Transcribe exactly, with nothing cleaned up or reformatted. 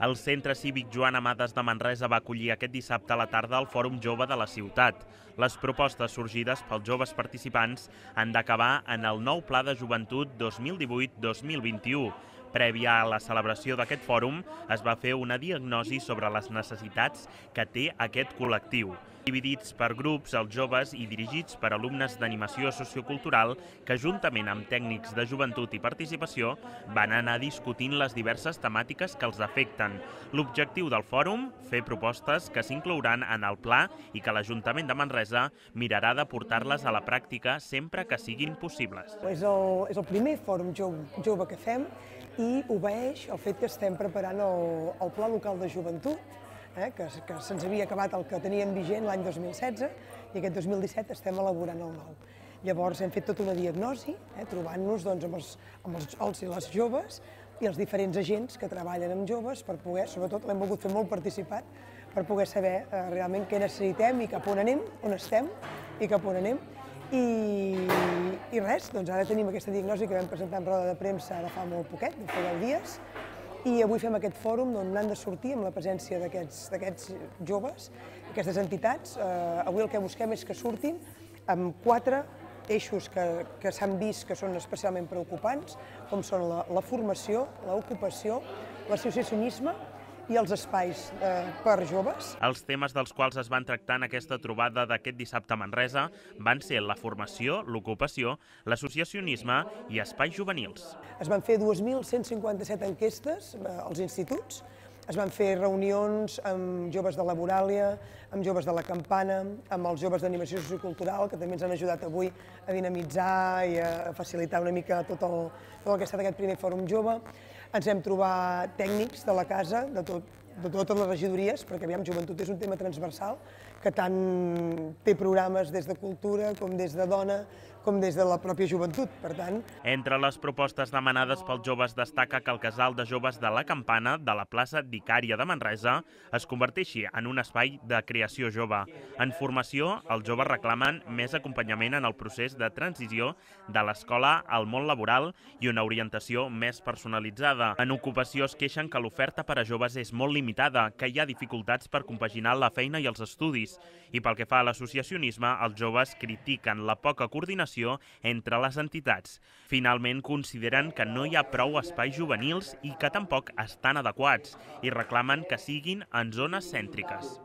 El Centre Cívic Joan Amades de Manresa va acollir aquest dissabte a la tarda el Fòrum Jove de la ciutat. Les propostes sorgides pels joves participants han d'acabar en el nou Pla de Joventut dos mil divuit dos mil vint-i-u. Prèvia a la celebració d'aquest fòrum, es va fer una diagnosi sobre les necessitats que té aquest col·lectiu. Dividits per grups, els joves i dirigits per alumnes d'animació sociocultural que, juntament amb tècnics de joventut i participació, van anar discutint les diverses temàtiques que els afecten. L'objectiu del fòrum, fer propostes que s'inclouran en el pla i que l'Ajuntament de Manresa mirarà de portar-les a la pràctica sempre que siguin possibles. És el, és el primer fòrum jove, jove que fem i obeeix el fet que estem preparant el, el Pla Local de Joventut, eh, que, que se'ns havia acabat el que teníem vigent l'any dos mil setze i aquest dos mil disset estem elaborant el nou. Llavors hem fet tota una diagnosi, eh, trobant-nos doncs, amb, els, amb els, els i les joves i els diferents agents que treballen amb joves per poder, sobretot l'hem volgut fer molt participat, per poder saber eh, realment què necessitem i cap on anem, on estem i cap on anem. I, i res, doncs ara tenim aquesta diagnosi que vam presentar en roda de premsa ara fa molt poquet, fa deu dies, i avui fem aquest fòrum on han de sortir amb la presència d'aquests joves, aquestes entitats. Eh, avui el que busquem és que surtin amb quatre eixos que, que s'han vist que són especialment preocupants, com són la, la formació, l'ocupació, l'associacionisme i els espais eh, per joves. Els temes dels quals es van tractar en aquesta trobada d'aquest dissabte a Manresa van ser la formació, l'ocupació, l'associacionisme i espais juvenils. Es van fer dos mil cent cinquanta-set enquestes eh, als instituts, es van fer reunions amb joves de la Moràlia, amb joves de la Campana, amb els joves d'animació sociocultural, que també ens han ajudat avui a dinamitzar i a facilitar una mica tot el, tot el que ha estat aquest primer fòrum jove. Ens hem trobat tècnics de la casa, de, tot, de totes les regidories, perquè aviam, joventut és un tema transversal, que tant té programes des de cultura, com des de dona, com des de la pròpia joventut, per tant. Entre les propostes demanades pels joves destaca que el casal de joves de la Campana, de la plaça d'Icària de Manresa, es converteixi en un espai de creació jove. En formació, els joves reclamen més acompanyament en el procés de transició de l'escola al món laboral i una orientació més personalitzada. En ocupació es queixen que l'oferta per a joves és molt limitada, que hi ha dificultats per compaginar la feina i els estudis. I pel que fa a l'associacionisme, els joves critiquen la poca coordinació entre les entitats. Finalment, consideren que no hi ha prou espais juvenils i que tampoc estan adequats i reclamen que siguin en zones cèntriques.